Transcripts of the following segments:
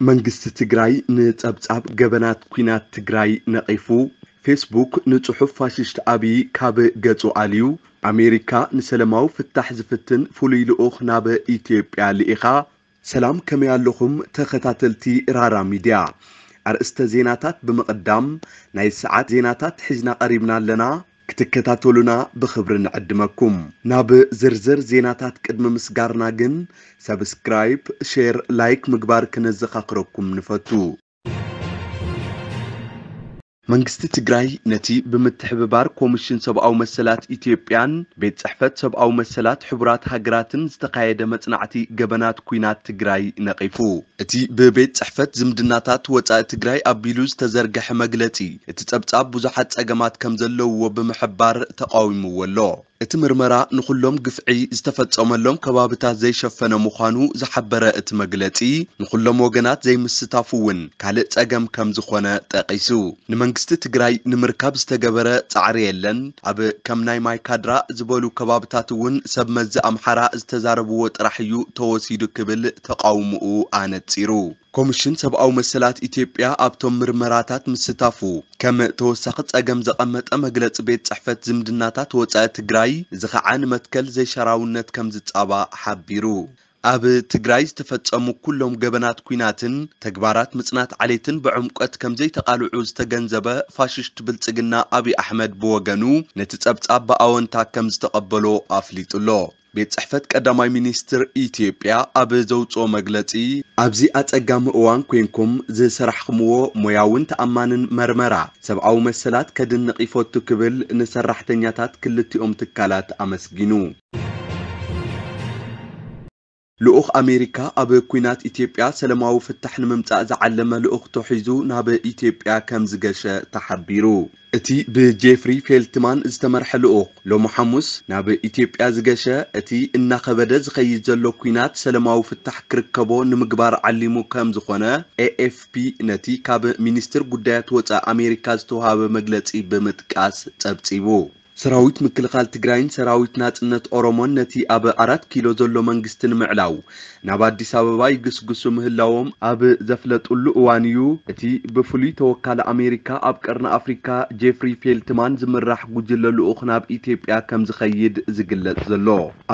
መንግስቲ ትግራይ ንጸብጻብ ገበናት ኲናት ትግራይ ነቒፉ። ፌስቡክ ንጽሑፍ ፋሽስት ኣብይ ካብ ገጹ ኣልዩ። ኣሜሪካ ንሰላማዊ ፍታሕ ዝፍትን ፍሉይ ልኡኽ ናብ ኢትዮጵያ ልኢኻ። ሰላም፣ ከመይ ኣለኹም ተኸታተልቲ ራራ ሚድያ? ኣርእስተ ዜናታት ብምቕዳም፣ ናይ ሰዓት ዜናታት ሒዝና ቀሪብና ኣለና። ክትከታተሉና ብኽብሪ ንዕድመኩም። ናብ ዝርዝር ዜናታት ቅድሚ ምስጋርና ግን፣ ሰብስክራይብ፣ ሼር፣ ላይክ ምግባር ክነዘኻኽረኩም ንፈቱ። መንግስቲ ትግራይ ነቲ ብምትሕብባር ኮሚሽን ሰብኣዊ መሰላት ኢትዮጵያን ቤት ጽሕፈት ሰብኣዊ መሰላት ሕቡራት ሃገራትን ዝተኻየደ መጽናዕቲ ገበናት ኲናት ትግራይ ነቒፉ። እቲ ብቤት ጽሕፈት ዝምድናታት ወጻኢ ትግራይ ኣቢሉ ዝተዘርግሐ መግለጺ፣ እቲ ጸብጻብ ብዙሓት ጸገማት ከም ዘለውዎ ብምሕባር ተቓዊምዎ ኣሎ። እቲ ምርመራ ንኹሎም ግፍዒ ዝተፈጸመሎም ከባብታት ዘይሸፈነ ምዃኑ ዝሓበረ እቲ መግለጺ፣ ንኹሎም ወገናት ዘይምስታፉ እውን ካልእ ጸገም ከም ዝኾነ ጠቒሱ። ንመንግስቲ ትግራይ ንምርካብ ዝተገበረ ጻዕሪ የለን። ኣብ ከም ናይ ማይካድራ ዝበሉ ከባብታት እውን ሰብ መዚ ኣምሓራ ዝተዛረብዎ ጥራሕ እዩ ተወሲዱ ክብል ተቓውምኡ ኣነጺሩ። ኮሚሽን ሰብኣዊ መሰላት ኢትዮጵያ ኣብቶም ምርመራታት ምስታፉ ከም ተወሳኺ ጸገም ዘቐመጠ መግለጺ ቤት ጽሕፈት ዝምድናታት ወጻኢ ትግራይ፣ እዚ ኸዓ ንመትከል ዘይሸራውነት ከም ዝጻባእ ሓቢሩ። ኣብ ትግራይ ዝተፈጸሙ ኩሎም ገበናት ኲናትን ተግባራት ምጽናት ዓሌትን ብዕምቆት ከም ዘይተቓልዑ ዝተገንዘበ ፋሽስት ብልጽግና ኣብይ ኣሕመድ ብወገኑ ነቲ ጸብጻብ ብኣወንታ ከም ዝተቐበሎ ኣፍሊጡ ኣሎ። ቤት ጽሕፈት ቀዳማይ ሚኒስትር ኢትዮጵያ ኣብ ዘውጽኦ መግለጺ፣ ኣብዚ ኣጸጋሚ እዋን ኮይንኩም ዝሰራሕኽምዎ ሞያውን ተኣማንን መርመራ ሰብኣዊ መሰላት ከድንቕ ይፈቱ ክብል ንሰራሕተኛታት ክልቲኦም ትካላት ኣመስጊኑ። ልኡኽ ኣሜሪካ ኣብ ኲናት ኢትዮጵያ ሰላማዊ ፍታሕ ንምምጻእ ዝዓለመ ልኡኽቶ ሒዙ ናብ ኢትዮጵያ ከም ዝገሸ ተሓቢሩ። እቲ ብጄፍሪ ፌልትማን ዝተመርሐ ልኡኽ ሎሚ ሓሙስ ናብ ኢትዮጵያ ዝገሸ፣ እቲ እናኸበደ ዝኸይድ ዘሎ ኲናት ሰላማዊ ፍታሕ ክርከቦ ንምግባር ዓሊሙ ከም ዝኾነ ኤኤፍፒ ነቲ ካብ ሚኒስትር ጉዳያት ወጻኢ ኣሜሪካ ዝተውሃበ መግለጺ ብምጥቃስ ጸብጺቡ። ሰራዊት ምክልኻል ትግራይን ሰራዊት ናጽነት ኦሮሞን ነቲ ኣብ ኣራት ኪሎ ዘሎ መንግስቲ ንምዕላው ናብ ኣዲስ ኣበባ ይግስግሱ ምህላዎም ኣብ ዘፍለጡሉ እዋን እዩ፣ እቲ ብፍሉይ ተወካሊ ኣሜሪካ ኣብ ቀርኒ ኣፍሪካ ጄፍሪ ፌልትማን ዝምራሕ ጉጅለ ልኡኽ ናብ ኢትዮጵያ ከም ዝኸይድ ዝግለጽ ዘሎ።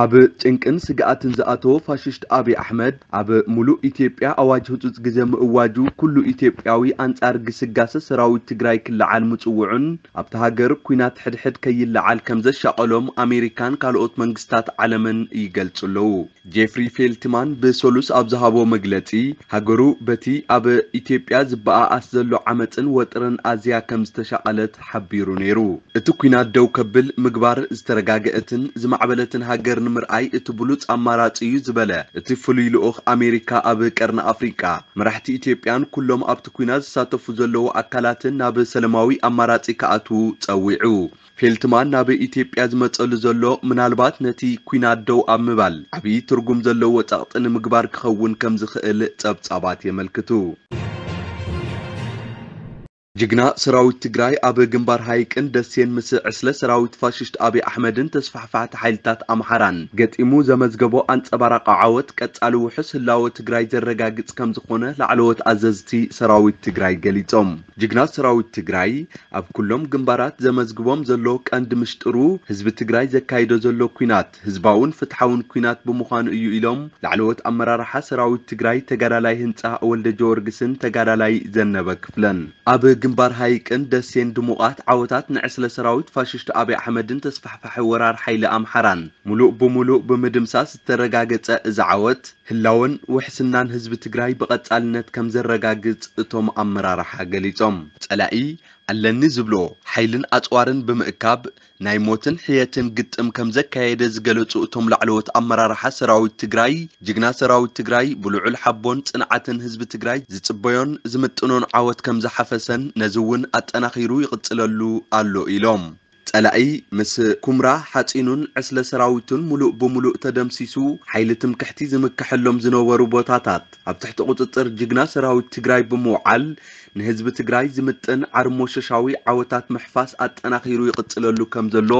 ኣብ ጭንቅን ስግኣትን ዝኣተወ ፋሽስት ኣብይ ኣሕመድ፣ ኣብ ሙሉእ ኢትዮጵያ ኣዋጅ ህጹጽ ግዜ ምእዋጁ፣ ኩሉ ኢትዮጵያዊ ኣንጻር ግስጋሰ ሰራዊት ትግራይ ክለዓል ምጽውዑን፣ ኣብታ ሃገር ኲናት ሕድሕድ ከይለዓል ከም ዘሻቐሎም ኣሜሪካን ካልኦት መንግስታት ዓለምን ይገልጹ ኣለዉ። ጄፍሪ ፌልትማን ብሰሉስ ኣብ ዝሃቦ መግለጺ፣ ሃገሩ በቲ ኣብ ኢትዮጵያ ዝበኣኣስ ዘሎ ዓመጽን ወጥርን ኣዝያ ከም ዝተሻቐለት ሓቢሩ ነይሩ። እቲ ኲናት ደው ከብል ምግባር ዝተረጋገአትን ዝማዕበለትን ሃገር ንምርኣይ እቲ ብሉጽ ኣማራጺ እዩ ዝበለ እቲ ፍሉይ ልኡኽ ኣሜሪካ ኣብ ቀርኒ ኣፍሪቃ፣ መራሕቲ ኢትዮጵያን ኩሎም ኣብቲ ኲናት ዝሳተፉ ዘለዉ ኣካላትን ናብ ሰላማዊ ኣማራጺ ክኣትዉ ጸዊዑ። ፌልትማን ናብ ኢትዮጵያ ዝመጸሉ ዘሎ፣ ምናልባት ነቲ ኲናት ደው ኣብ ምባል ዓብዪ ትርጉም ዘለዎ ጸቕጢ ንምግባር ክኸውን ከም ዝኽእል ጸብጻባት የመልክቱ። ጅግና ሰራዊት ትግራይ ኣብ ግንባር ሃይቅን ደሴን ምስ ዕስለ ሰራዊት ፋሽስት ኣብይ ኣሕመድን ተስፋሕፋሕቲ ሓይልታት ኣምሓራን ገጢሙ ዘመዝገቦ ኣንጸባራቂ ዓወት ቀጻሊ ውሑስ ህላወ ትግራይ ዘረጋግጽ ከም ዝኾነ ላዕለዎት ኣዘዝቲ ሰራዊት ትግራይ ገሊጾም። ጅግና ሰራዊት ትግራይ ኣብ ኩሎም ግንባራት ዘመዝግቦም ዘሎ ቀንዲ ምሽጥሩ ህዝቢ ትግራይ ዘካይዶ ዘሎ ኲናት ህዝባውን ፍትሓውን ኲናት ብምዃኑ እዩ ኢሎም ላዕለዎት ኣመራርሓ ሰራዊት ትግራይ ተጋዳላይ ህንጻ ወልደ ጀወርግስን ተጋዳላይ ዘነበ ክፍለን። ኣብ ግንባር ሃይቅን ደሴን ድሙቓት ዓወታት ንዕስለ ሰራዊት ፋሽስት ኣብይ ኣሕመድን ተስፋሕፋሒ ወራር ሓይሊ ኣምሓራን ሙሉእ ብሙሉእ ብምድምሳስ ዝተረጋገጸ እዚ ዓወት ህላወን ውሕስናን ህዝቢ ትግራይ ብቐጻልነት ከም ዘረጋግጽ እቶም ኣመራርሓ ገሊጾም። ጸላኢ ኣለኒ ዝብሎ ሓይልን ኣጽዋርን ብምእካብ ናይ ሞትን ሕየትን ግጥም ከም ዘካየደ ዝገለጹ እቶም ላዕለዎት ኣመራርሓ ሰራዊት ትግራይ፣ ጅግና ሰራዊት ትግራይ ብልዑል ሓቦን ጽንዓትን ህዝቢ ትግራይ ዝጽበዮን ዝምጥኖን ዓወት ከም ዝሓፈሰን ነዚ እውን ኣጠናኺሩ ይቕጽለሉ ኣሎ ኢሎም። ጸላኢ ምስ ኩምራ ሓጺኑን ዕስለ ሰራዊቱን ሙሉእ ብሙሉእ ተደምሲሱ፣ ሓይሊ ትምክሕቲ ዝምክሐሎም ዝነበሩ ቦታታት ኣብ ትሕቲ ቁጽጽር ጅግና ሰራዊት ትግራይ ብምውዓል፣ ንህዝቢ ትግራይ ዝምጥን ዓርሞሸሻዊ ዓወታት ምሕፋስ ኣጠናኺሩ ይቕጽለሉ ከም ዘሎ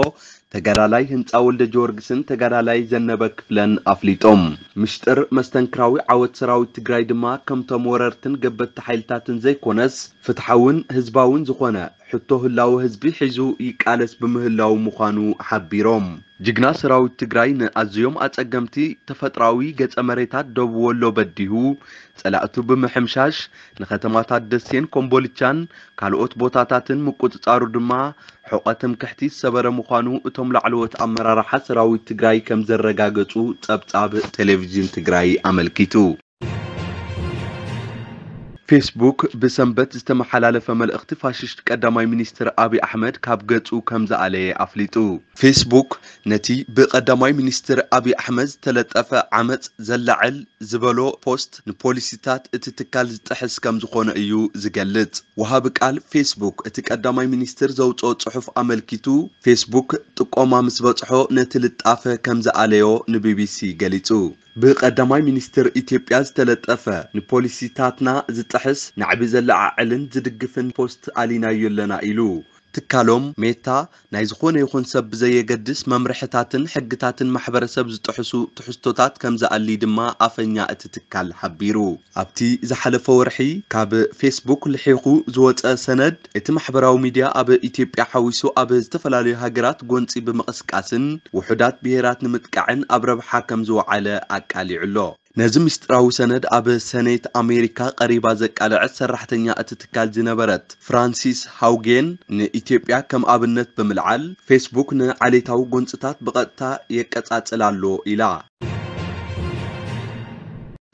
ተጋዳላይ ህንጻ ወልደ ጊዮርጊስን ተጋዳላይ ዘነበ ክፍለን ኣፍሊጦም። ምሽጥር መስተንክራዊ ዓወት ሰራዊት ትግራይ ድማ ከምቶም ወረርትን ገበቲ ሓይልታትን ዘይኮነስ፣ ፍትሓውን ህዝባውን ዝኾነ ሕቶ ህላወ ህዝቢ ሒዙ ይቃለስ ብምህላው ምዃኑ ሓቢሮም። ጅግና ሰራዊት ትግራይ ንኣዝዮም ኣጸገምቲ ተፈጥራዊ ገጸ መሬታት ደቡብ ወሎ በዲሁ፣ ጸላእቱ ብምሕምሻሽ፣ ንከተማታት ደሴን ኮምቦልቻን ካልኦት ቦታታትን ምቁጽጻሩ ድማ፣ ሕቖ ትምክሕቲ ዝሰበረ ምዃኑ እቶም ላዕለዎት ኣመራርሓ ሰራዊት ትግራይ ከም ዘረጋገጹ ጸብጻብ ቴሌቪዥን ትግራይ ኣመልኪቱ። ፌስቡክ ብሰንበት ዝተመሓላለፈ መልእኽቲ ፋሽስት ቀዳማይ ሚኒስትር ኣብይ ኣሕመድ ካብ ገጹ ከም ዝኣለየ ኣፍሊጡ። ፌስቡክ ነቲ ብቀዳማይ ሚኒስትር ኣብይ ኣሕመድ ዝተለጠፈ ዓመጽ ዘላዕል ዝበሎ ፖስት ንፖሊሲታት እቲ ትካል ዝጥሕስ ከም ዝኾነ እዩ ዝገልጽ። ወሃቢ ቃል ፌስቡክ እቲ ቀዳማይ ሚኒስትር ዘውጽኦ ጽሑፍ ኣመልኪቱ፣ ፌስቡክ ጥቆማ ምስ በጽሖ ነቲ ልጣፈ ከም ዝኣለዮ ንቢቢሲ ገሊጹ። ብቀዳማይ ሚኒስትር ኢትዮጵያ ዝተለጠፈ ንፖሊሲታትና ዝጥሕስ ናዕቢ ዘለዓዕልን ዝድግፍን ፖስት ኣሊናዮ ኣለና ኢሉ። ትካሎም ሜታ ናይ ዝኾነ ይኹን ሰብ ብዘየገድስ መምርሕታትን ሕግታትን ማሕበረሰብ ዝጥሕሱ ትሕዝቶታት ከም ዝኣሊ ድማ ኣፈኛ እቲ ትካል ሓቢሩ። ኣብቲ ዝሓለፈ ወርሒ ካብ ፌስቡክ ልሒኹ ዝወጸ ሰነድ፣ እቲ ማሕበራዊ ሚድያ ኣብ ኢትዮጵያ ሓዊሱ ኣብ ዝተፈላለዩ ሃገራት ጎንጺ ብምቕስቃስን ውሑዳት ብሄራት ንምጥቃዕን ኣብ ረብሓ ከም ዝወዓለ ኣቃሊዑ ኣሎ። ነዚ ምስጢራዊ ሰነድ ኣብ ሰኔት ኣሜሪካ ቀሪባ ዘቃለዐት ሰራሕተኛ እቲ ትካል ዝነበረት ፍራንሲስ ሃውጌን ንኢትዮጵያ ከም ኣብነት ብምልዓል፣ ፌስቡክ ንዓሌታዊ ጎንጽታት ብቐጥታ የቀጻጽል ኣሎ ኢላ።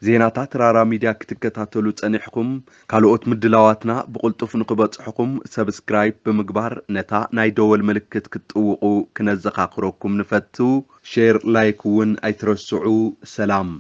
ዜናታት ራራ ሚድያ ክትከታተሉ ጸኒሕኩም፣ ካልኦት ምድላዋትና ብቕልጡፍ ንኽበጽሕኹም ሰብስክራይብ ብምግባር ነታ ናይ ደወል ምልክት ክትጥውቑ ክነዘኻኽረኩም ንፈቱ። ሼር፣ ላይክ እውን ኣይትረስዑ። ሰላም።